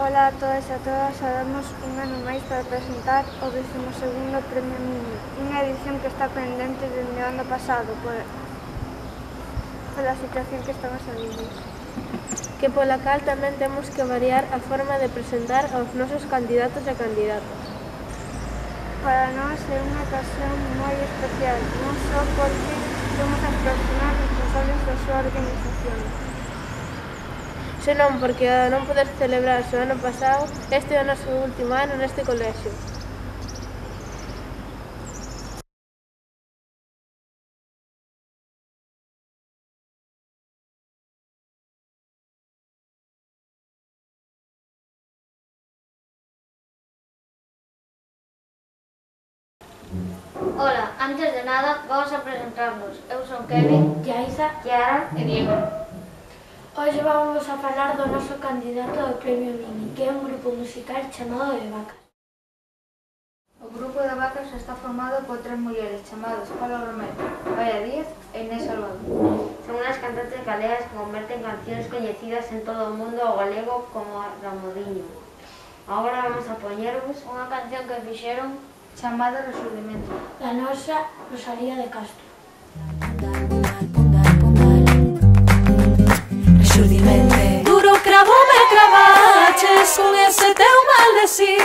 Ola a todos e a todas, damos un ano máis para presentar o 12º Premio Mini, unha edición que está pendente dende o ano pasado pola situación que estamos a vivir. Que pola cal tamén temos que variar a forma de presentar aos nosos candidatos e candidatas. Para nós é unha ocasión moi especial, non só porque somos as persoas responsables da súa organización, Senón porque ao non poder celebrarse o ano pasado, este é o noso último ano neste colexio. Ola, antes de nada, vamos a presentarnos. Eu son Kevin, Yaisa, Kiara e Diego. Hoxe vamos a falar do noso candidato ao Premio Mini, que é un grupo musical chamado De Vacas. O grupo de Vacas está formado por 3 mulleres chamadas Paula Romero, Gaia Díaz e Inés Salvador. Son unhas cantantes galegas que converten cancións coñecidas en todo o mundo ao galego como a Ramodiño. Agora vamos a poñervos unha canción que fixeron Chamada Resurdimento. Da nosa Rosalía de Castro. Resurdimento. Duro cravo me cravaches con ese teu maldecir,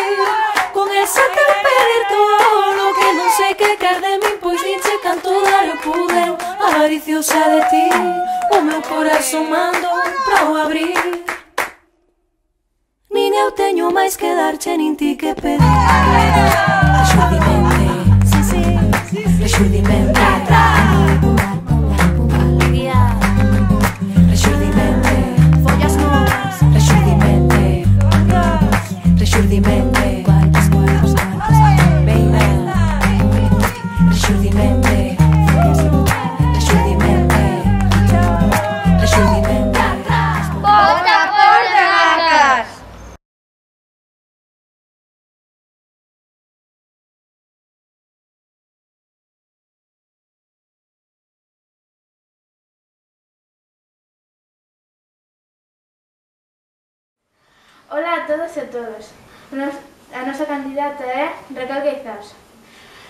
con ese teu pedir todo que non sei que quer de min, pois ninche canto dar eu pude, avariciosa de ti, o meu corazón mando pra o abrir. Nin eu teño máis que darche, nin ti que pedir. Resurdimento, sí, sí, resurdimento. Resurdimento, follas novas. Resurdimento, resurdimento. Baby, resurdimento, resurdimento, resurdimento. Vota por De Vacas! Ola a todos e todas. A nosa candidata é Raquel Queizás.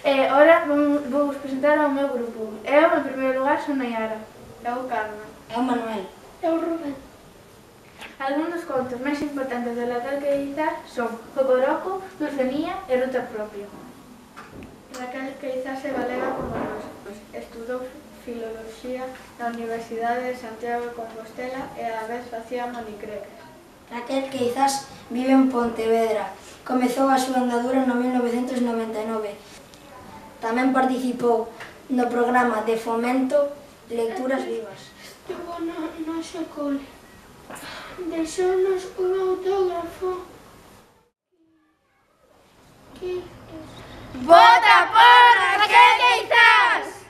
Ora vou presentar ao meu grupo. Eu, en primeiro lugar, son Nayara. Eu, Carmen. Eu, Manuel. Eu, Rubén. Algúns dos contos máis importantes de Raquel Queizás son Cocoroco, Dulcenía e Ruta Propia. Raquel Queizás é galega como nós, estudou Filoloxía na Universidade de Santiago de Compostela e á vez facía monicreques. Raquel Queizás vive en Pontevedra. Comezou a súa andadura no 1999. Tamén participou no programa de fomento Lecturas Vivas. Estuvo no noso cole. Deixounos un autógrafo. Vota por Raquel Queizás!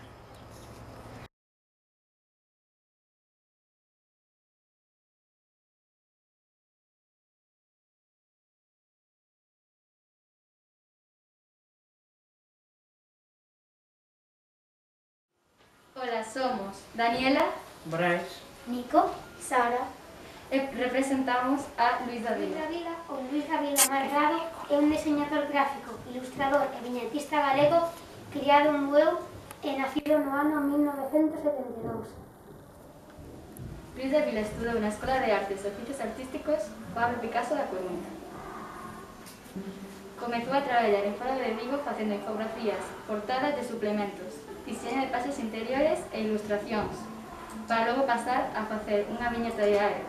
Ola, somos Daniela, Brais, Nico, Sara. e representamos a Luis Davila. Luis Davila Margado é un diseñador gráfico, ilustrador e viñetista galego criado en Bueu e nacido no ano 1972. Luis Davila estudou na Escola de Artes e Oficios Artísticos Pablo Picasso da Coruña. Comezou a traballar en Faro de Vigo facendo infografías, portadas de suplementos, diseño de pases interiores e ilustracións, para logo pasar a facer unha viñeta diaria.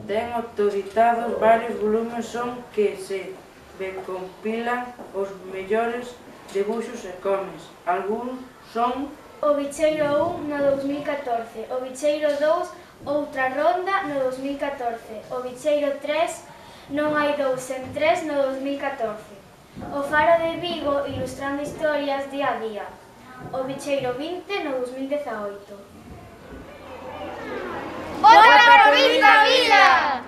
ten autorizados varios volumes son que se recompilan os mellores debuxos e cómics. Algúns son O Bicheiro 1 no 2014, o Bicheiro 2 outra ronda no 2014, o Bicheiro 3 non hai 2 sen 3 no 2014, o Faro de Vigo ilustrando historias día a día, o Bicheiro 20 no 2018. Vota por Luis Davila!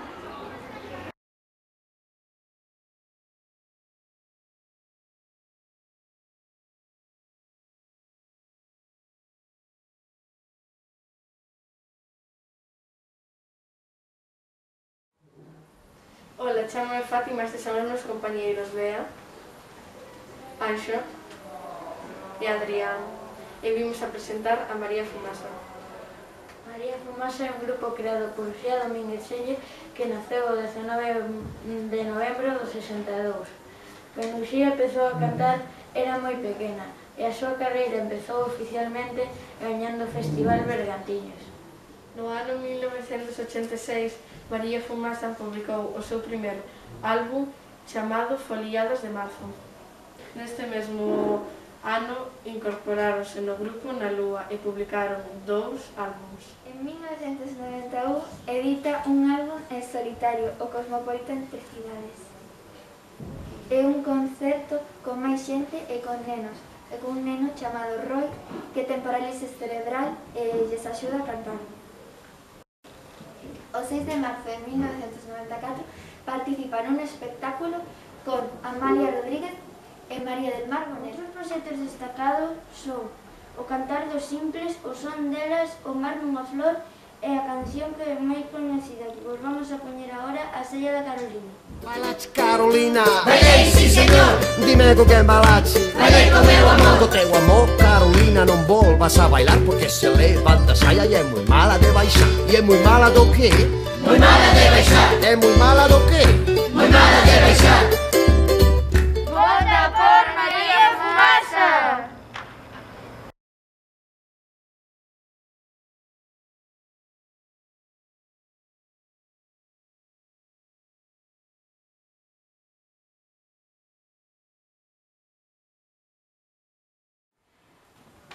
Ola, chamame Fátima, estes son os meus compañeiros Bea, Anxo e Adrián, e vimos a presentar a María Fumasa. María Fumasa é un grupo creado por Uxía Domínguez Selle que naceu o 19 de novembro do 62. Cando Uxía empezou a cantar era moi pequena e a súa carreira empezou oficialmente gañando festivales bergantiños. No ano 1986, María Fumasa publicou o seu primeiro álbum chamado Foliados de Marzo. Neste mesmo ano incorporáronse no grupo Na Lúa e publicaron 2 álbums. En 1991 edita un álbum en solitario, o Cosmopolitan de Cidades. É un concerto con máis xente e con nenos, e con un neno chamado Roy que ten parálisis cerebral e lles axuda a cantar. O 6 de marzo de 1994 participa nun espectáculo con Amalia Rodríguez e María del Mar Bonet. Os proxectos destacados son O cantar dos simples, O son delas, O mar nunha flor e a canción que é máis coñecida que vos vamos a poñer agora, A sella da Carolina. Bailache Carolina, bailei, sí señor. Dime con quen balache, bailei con meu amor. Co teu amor, Carolina, non volvas a bailar porque se levanta a saia e é moi mala de baixar. E é moi mala do que? Moi mala de baixar. É moi mala do que? Moi mala de baixar. Vota por María Fumasa!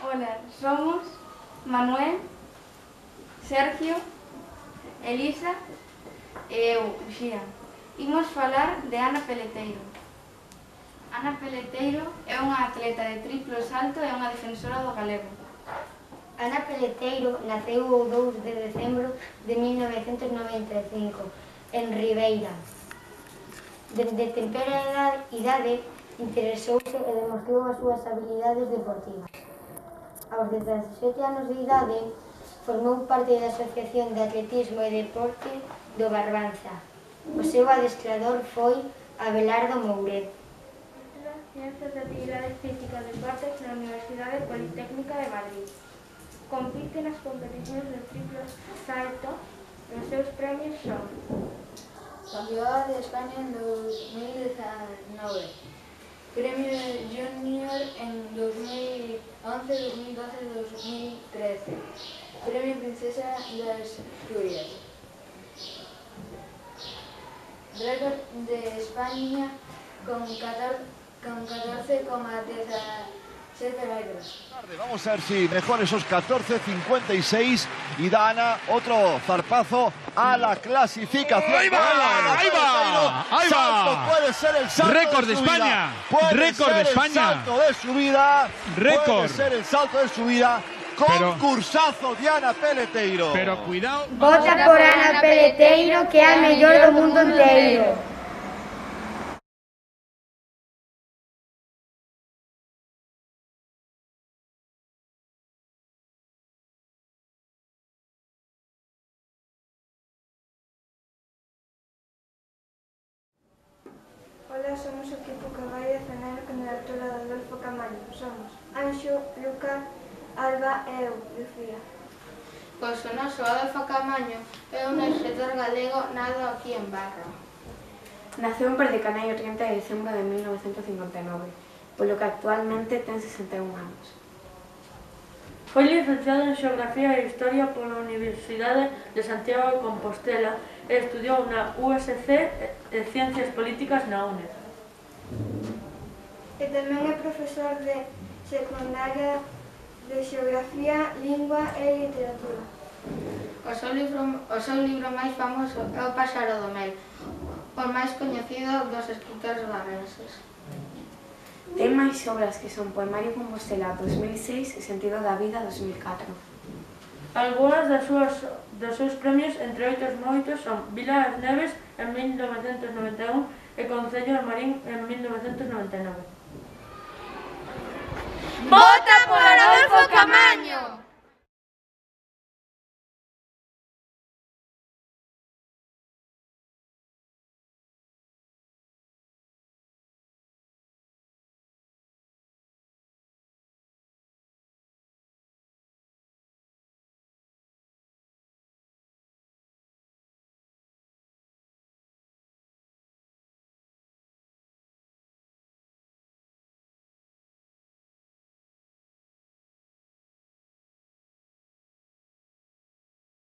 Ola, somos Manuel, Sergio, Elisa e eu, Uxía. Imos falar de Ana Peleteiro. Ana Peleteiro é unha atleta de triplo salto e unha defensora do galego. Ana Peleteiro naceu o 2 de decembro de 1995 en Ribeira. Desde temprana idade interesouse e demostrou as súas habilidades deportivas. Aos 17 anos de idade formou parte da Asociación de Atletismo e Deporte do Barbanza. O seu adestrador foi Abelardo Mouret. Ciencias de Actividades Físicas e Deportes na Universidade Politécnica de Madrid. Compite nas competicións de triplo salto e os seus premios son Campeonato de España en 2019, Premio Junior en 2011, 2012 y 2013, Premio Princesa de Asturias, récord de España con 14,17 metros. Vamos a ver si mejor esos 14,56 y da Ana otro zarpazo a la clasificación. ¡Ahí va! ¡Ahí va! ¡Ahí va! Puede ser el salto récord de de su España. vida. Puede Récord ser de el España. salto de su vida. Récord. Puede ser el salto de su vida. Concursazo de Ana Peleteiro. Pero cuidado. Vota por Ana Peleteiro, que é a mellor do mundo inteiro. Ola, somos o equipo que vai defender a candidatura de Adolfo Camaño. Somos Anxo, Luca, Alba e eu, Lucía. Pois o noso Adolfo Camaño é un escritor galego nado aquí en Barra. Naceu en Perdicanai o 30 de decembro de 1959, polo que actualmente ten 61 anos. Foi licenciado en Xeografía e Historia pola Universidade de Santiago de Compostela e estudiou na USC e Ciencias Políticas na UNED. E tamén é profesor de secundaria de Xeografía, Lingua e Literatura. O seu libro máis famoso é O páxaro do mel, o máis coñecido dos escritores barrenses. Ten máis obras que son Poemario Compostela 2006 e Sentido da Vida 2004. Algúnas dos seus premios, entre moitos, son Vila das Neves en 1991 e Concello de Marín en 1999. ¡Vota por Adolfo Camaño!